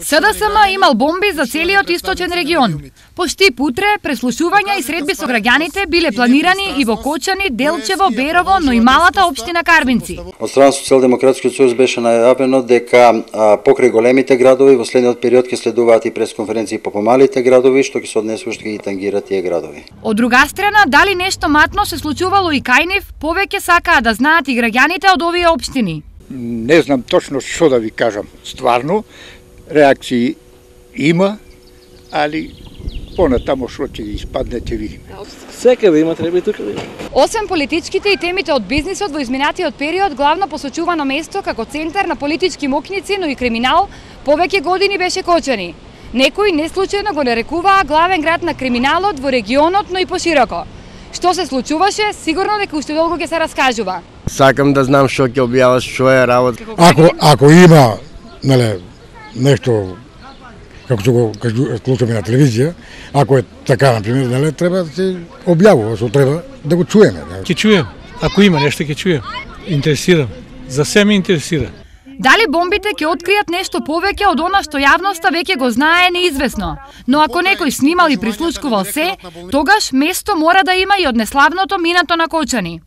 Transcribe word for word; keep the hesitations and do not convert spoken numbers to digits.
СДСМ имал бомби за целиот источен регион. Пошти путре, преслушувања и средби со граѓаните биле планирани и во Кочани, Делчево, Берово, но и малата општина Карбинци. Од страна Социјалдемократскиот сојуз беше најавено дека а, покрај големите градови во следниот период ќе следуваат и пресконференции по помалите градови, што ќе се однесува што ќе ги тангира тие градови. Од друга страна, дали нешто матно се случувало и кај нив, повеќе сакаа да знаат и граѓаните од овие општини. Не знам точно што да ви кажам. Стварно, реакции има, али понатамо што ќе испадне ќе видиме. Секаде има, треба и тука да има. Освен политичките и темите од бизнисот во изминатиот период, главно посочувано место како центар на политички мокници, но и криминал, повеќе години беше Кочани. Некои неслучајно го нарекуваа главен град на криминалот во регионот, но и пошироко. Што се случуваше, сигурно дека уште долго ќе се раскажува. Сакам да знам што ќе објаваш, што е работа. Ако ако има, неле, нешто како што го слушаме на телевизија, ако е така на пример, неле, треба да се објавува, што треба да го чуеме. Ќе чуем. Ако има нешто ќе чуем. Интересирам. За се ме интересира. Дали бомбите ќе откријат нешто повеќе од она што јавноста веќе го знае, неизвестно. Но ако некој снимал и прислушкувал се, тогаш место мора да има и од неславното минато на Кочани.